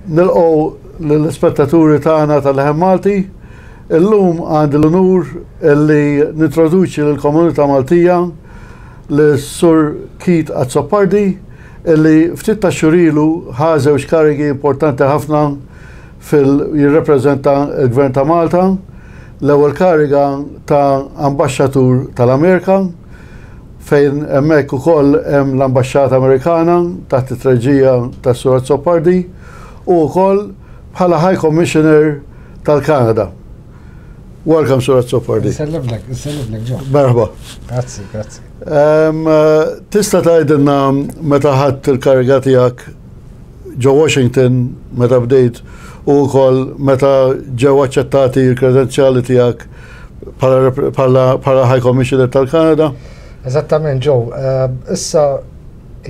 Nilqgħu lill-ispettaturi tagħna tal-Leħen Malti. Illum għandi l-unur li nintroduċi lill-komunità Maltija lis-Sur Keith Azzopardi illi ftit ta' xhur ilu ħa żewġ karigi importanti ħafna fil jirrepreżenta l-Gvern ta' Malta, l-ewwel kariga ta' Ambaxxatur tal-Amerika fejn hemmhekk ukoll hemm l-Ambaxxata Amerikana taħt it-treġija tas-Sur Azzopardi u wkoll bħala High Commissioner tal-Kanada. Welcome, Sur Azzopardi. Nsellimlek, nsellimlek Joe. Merħba. Grazzi, grazzi. Tista' tgħidilna meta ħadt il-kariga tiegħek ġo Washington meta bdejt u wkoll meta ġew aċċettati l-kredenzjali tiegħek bħala High Commissioner tal-Kanada? Eżattament, Joe. Issa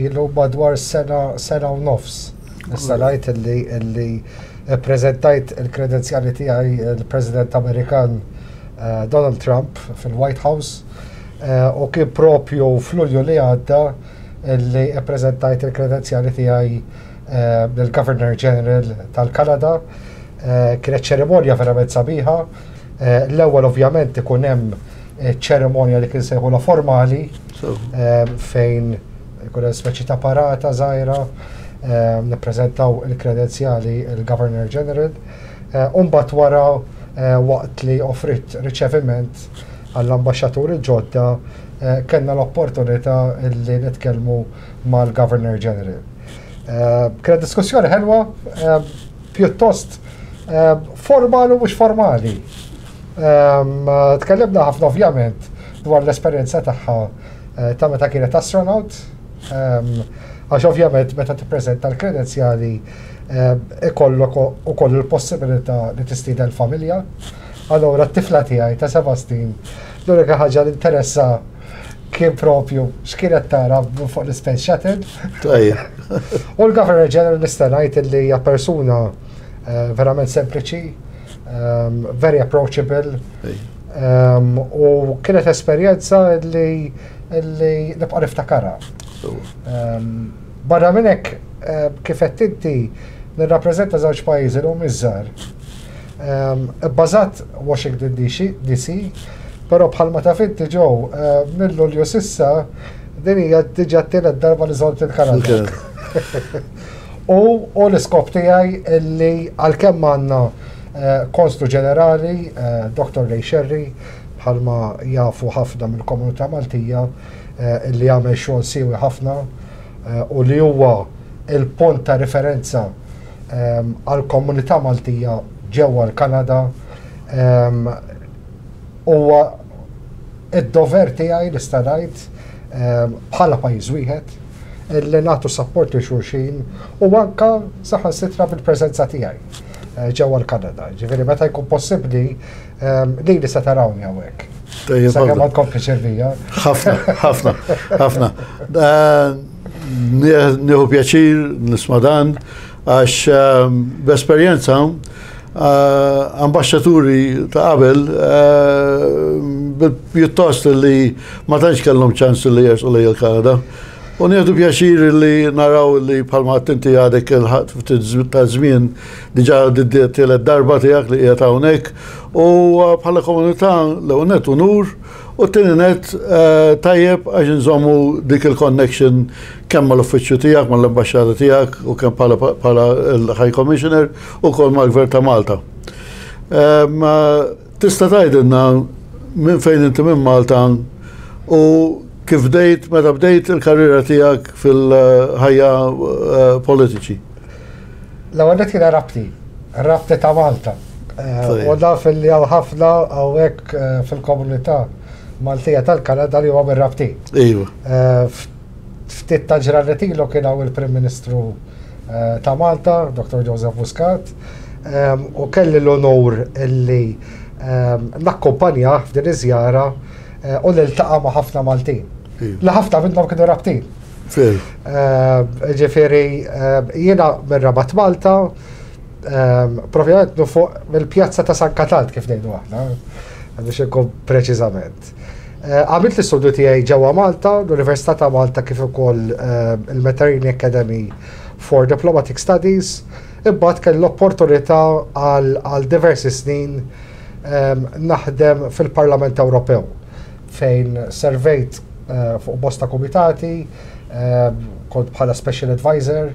ilu madwar sena, sena u nofs. Issa ngħid illi illi ppreżentajt il-kredenzjali tiegħi l-President Amerikan eh, Donald Trump fil-White House eh, u kien propju f'Lulju li għadda li ppreżentajt il-kredenzjali tiegħi eh, lill-Governor General tal-Kanada. Eh, kienet ċerimonja verament sabiħa. Eh, l-ewwel ovvjament ikun hemm ċerimonja li kien sejħula formali fejn ikun hemm speċi ta' parata żgħira nippreżentaw il-kredenzjali il-Governor General. Umbagħad wara waqt li offrit riċeviment għall-ambaxxaturi ġodda kellna l-opportunità li nitkellmu mal-Governor General. Kienet diskussjoni ħelwa, pjuttost formali u mhux formali. Tkellimna ħafna ovvjament dwar l-esperjenza tagħha ta' meta kienet astronaut, għax ovvjament meta tippreżenta l-kredenzjali ikollok ukoll il-possibilità li tistieden familja. Allura t-tifla tiegħi ta' seba' snin l-unika ħaġa li interessa kien propju x'kienet tara fuq l-Space Shuttle. U l-Governor General nista' ngħid li hija persuna eh, verament sempliċi, ehm, very approachable. Ehm, u kienet esperjenza li li nibqa' niftakarha. Ehm, barra minn hekk eh, kif qed inti nirrappreżenta żewġ pajjiżi li hum iżgħar. Bbażat Washington DC, però bħalma taf inti Joe, minn Lulju s'issa din hija diġà t-tielet darba li żort il-Kanada. U l-iskop tiegħi li għalkemm għandna Konslu Ġenerali, Dr. Ray Scerri, bħalma jafu ħafna mill-komunità Maltija, li jagħmel xogħol siewi ħafna u li huwa l-punt ta' riferenza għall-komunità Maltija ġewwa l-Kanada huwa id-dover tiegħi nista' ngħid bħala pajjiż wieħed li nagħtu sapport lil xulxin u anka saħansitra bil-preżenza tiegħi eh, ġewwa l-Kanada. Ġifieri meta jkun possibbli lili se tarawni hawnhekk. Sakemm ma tkompli ċervija. Ħafna, ħafna, ħafna. Eh, Nieħu pjaċir nisma' dan għax ehm, b'esperjenza eh, ambasċaturi ta' qabel eh, pjuttost li ma tantx kellhom ċans li jersu lejn il-Kanada. U nieħdu pjaċir li naraw li bħalma inti għadek il-ħadd ftit ta' żmien diġà tielet darba tiegħek li qiegħed hawnhekk u eh, bħala komunità l-ewwel nett unur U t-tieni nett, tajjeb għax inżommu dik il-connection kemm mal-uffiċċju tiegħek, mal-ambaxxata tiegħek u kemm bħala l-High Commissioner u ukoll mal-Gvern ta' Malta. Tista' tgħidilna minn fejn inti minn Malta u kif bdejt, meta bdejt il-karriera tiegħek fil-ħajja politiċi? L-ewwel nett jiena Rabti, Rabti ta' Malta. Eh, u naf li hawn ħafna hawnhekk eh, fil-komunità Maltija tal-Kanada li huwa mir-Rabti. Iva. Eh, ftit ta' ġranet ilu kien hawn il-Prim Ministru ta' Malta, Dr. Joseph Muscat, u kelli l-onur illi nakkumpanja f'din iż-żjara u niltaqa' ma' ħafna Maltin. Iva. Li ħafna minnhom kienu Rabtin. Ġifieri jiena mir-Rabat Malta, propjament fuq mill-pjazza ta' San Katald kif ngħidu aħna, biex inkun preċiżament. Għamilt l-istudju tiegħi ġewwa Malta, l-Università ta' Malta kif ukoll il-Mediterranean Academy for Diplomatic Studies. Imbagħad kelli l-opportunità għal diversi snin naħdem fil-Parlament Ewropew fejn servejt fuq bosta kumitati, kont bħala special advisor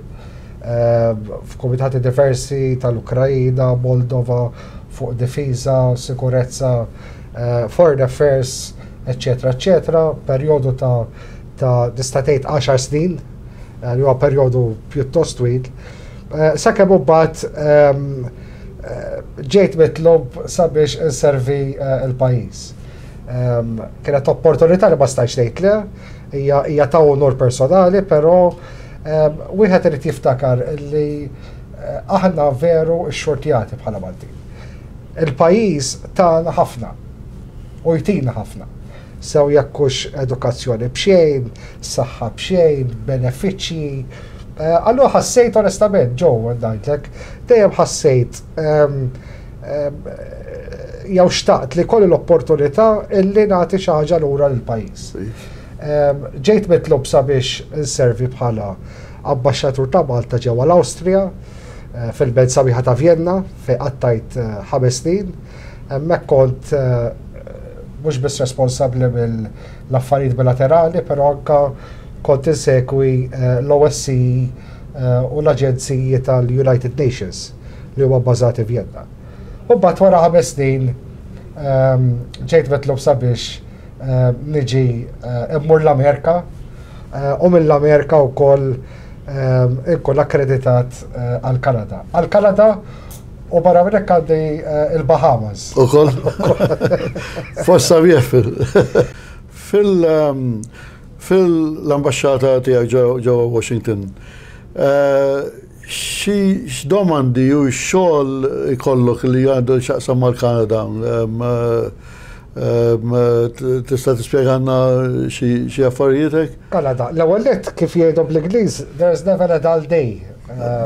f'kumitati diversi tal-Ukrajina, Moldova, fuq difiża, sikurezza, foreign affairs, eccetera, eccetera, perjodu ta' tista' tgħid 10 snin, li huwa perjodu pjuttost twil. Sakemm imbagħad ġejt mitlob sabiex inservi l-pajjiż. Kienet opportunità li ma stajtx ngħid le, hija ta' onur personali, però wieħed irid jiftakar li aħna veru xxurtjati bħala Maltin. Il-pajjiż tagħna ħafna u jtina ħafna. Sew jekk hux edukazzjoni b'xejn, saħħa b'xejn, benefiċċji. Allura ħassejt onestament, Joe, ngħidlek, dejjem ħassejt jew xtaqt li kolli l-opportunità illi nagħti xi ħaġa lura lill-pajjiż. Ġejt mitlob sabiex inservi bħala ambaxxatur ta' Malta ġewwa l-Awstrija, fil-belt sabiħa ta' Vienna, fejn qattajt 5 snin. Hemmhekk kont mhux biss responsabbli mill-affarijiet bilaterali, però anka kont insegwi l-OSCE u l-aġenziji tal-United Nations li huma bbażati Vienna. U mbagħad wara 5 snin ġejt mitlob sabiex niġi immur l-Amerika u mill-Amerika wkoll inkun akkreditat għall-Kanada. Għall-Kanada u barra minn hekk għandi il-Bahamas. Ukoll. Fost sabiħ fil fil-ambaxxata tiegħek ġewwa Washington. Xi x'domandi u xogħol ikollok li għandu x'jaqsam mal-Kanada? Tista' tispjegalna xi affarijiet hekk? Kanada. L-ewwel nett kif jgħidu bl-Ingliż, there's never a dull day.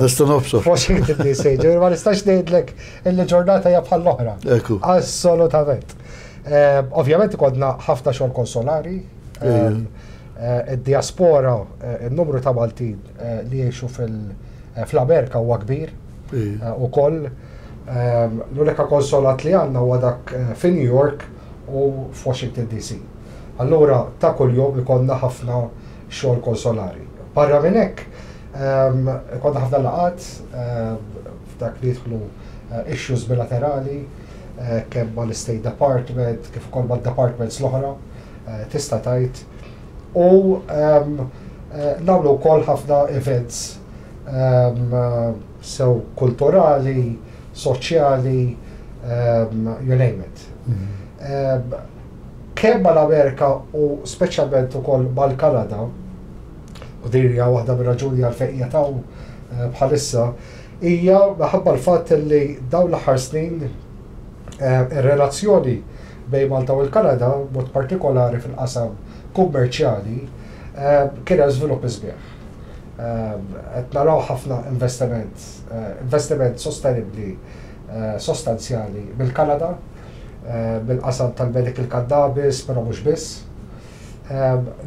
Nista' nobsor. Washington DC, ġifieri ma nistax ngħidlek illi ġurnata hija bħall-oħra. Ekku. Assolutament. Ovvjament ikollna ħafna xogħol konsolari. Id-diaspora, il-numru ta' Maltin li jgħixu fl-Amerika huwa kbir ukoll. L-unika konsolat li għandna huwa dak fi New York u f'Washington DC. Allura ta' kuljum ikollna ħafna xogħol konsolari. Barra minn hekk, ikollna ħafna laqgħat f'dak li jidħlu issues bilaterali kemm mal-State Department kif ukoll mad-departments l-oħra tista' tgħid. U nagħmlu wkoll ħafna events sew kulturali, soċjali, you name it. Kemm mal-Amerika u speċjalment ukoll mal-Kanada, u din hija waħda mir-raġuni għalfejn qiegħed hawn bħalissa, hija minħabba l-fatt li dawn l-aħħar snin ir-relazzjoni bejn Malta u l-Kanada, b'mod partikolari fil-qasam kummerċjali, kien hemm żvilupp sbieħ. Qed naraw ħafna investiment, investiment sostenibbli sostanzjali mill-Kanada, mill-qasam tal-medical cannabis, però mhux biss.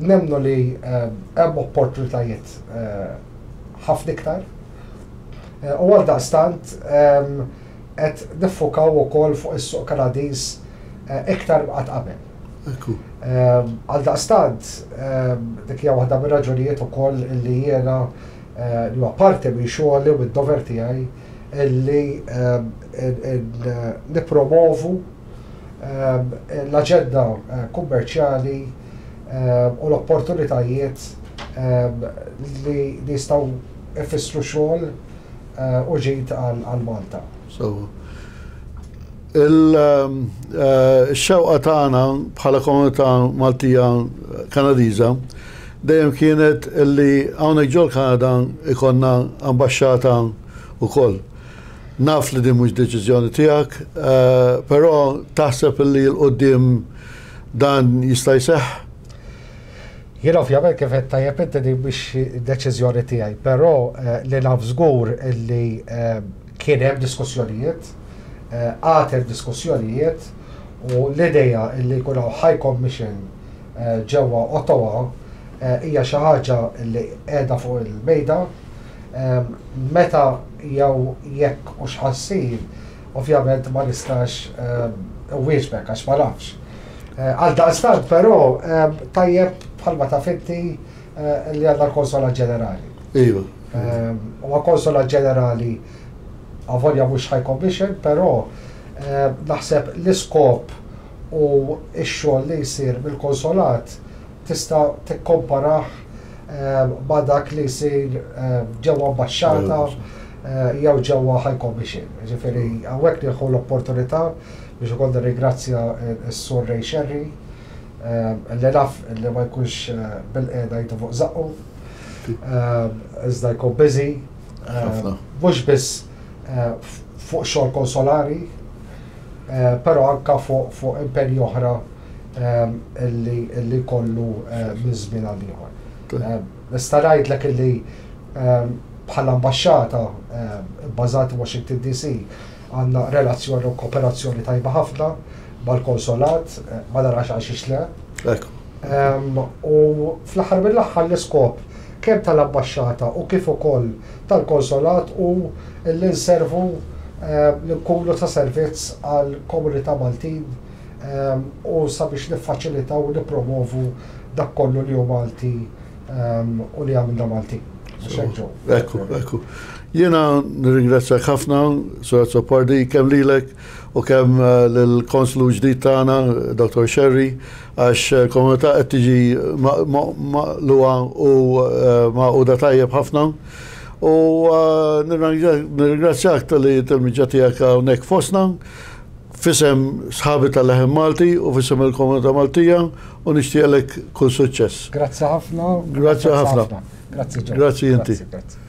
Nemmnu li hemm opportunitajiet ħafna iktar. U għaldaqstant qed niffukaw ukoll fuq is-suq Kanadiż iktar minn qatt qabel. Għaldaqstant dik hija waħda mir-raġunijiet ukoll li jiena li huwa parti minn xogħli u mid-dover tiegħi illi nippromovu l-aġenda kummerċjali u l-opportunitajiet li jistgħu jfissru xogħol u ġid għal Malta. So, il-xewqa tagħna bħala komunità Maltija Kanadiża dejjem kienet illi hawnhekk ġol Kanada ikollna ambaxxata wkoll. Naf li din mhux deċiżjoni tiegħek, però taħseb illi 'l quddiem dan jista' jseħħ? Jien ovvjament kif qed tajjeb inti din mhix deċiżjoni tiegħi, però li naf żgur illi kien hemm diskussjonijiet, għad hemm diskussjonijiet u l-idea illi jkun hawn High Commission ġewwa Ottawa hija xi ħaġa li qiegħda fuq il-mejda. Meta jew jekk u x'ħa ssir, ovvjament ma nistax nwieġbek għax ma nafx. Għaldaqstant però tajjeb bħalma taf inti li għandna l-Konsolat Ġenerali. Iva. Huwa Konsolat Ġenerali avolja mhux High Commission, però naħseb l-iskop u x-xogħol li jsir mill-Konsolat tista' tikkomparah ma' dak li jsir ġewwa ambaxxata jew ġewwa High Commission. Ġifieri hawnhekk nieħu l-opportunità biex ukoll nirringrazzja s-Sur Ray Scerri li naf li ma jkunx bilqiegħda jidu fuq żaqqu, iżda jkun busy. Mhux biss fuq xogħol konsolari, però anka fuq impenji oħra illi jkollu minn żmien għal ieħor. Nista' ngħidlek illi bħala ambaxxata bbażati Washington DC għandna relazzjoni u kooperazzjoni tajba ħafna mal-konsolat, ma narax għal xiex le. U fl-aħħar mill-aħħar l-iskop kemm tal-ambaxxata u kif ukoll tal-konsolat hu li nservu li nkunu ta' servizz għall-komunità Maltin u sabiex niffaċilitaw u nippromovu dak kollu li hu Malti u li jagħmilna Maltin. Ekku, ekku. Jiena nirringrazzjak ħafna, Sur Azzopardi, kemm lilek u kemm eh, lill-konslu ġdid tagħna, Dr. Sherry, għax eh, komunità qed tiġi maqluha u eh, magħquda tajjeb ħafna. U nirringrazzjak tal-li tal-miġġa tiegħek hawnhekk fostna. F'isem sħabi tal-Leħen Malti u f'isem il-komunità Maltija u nixtieqlek kull suċċess. Grazzi ħafna. Grazzi ħafna. Grazzi Ġo. Grazzi inti. Grazzi.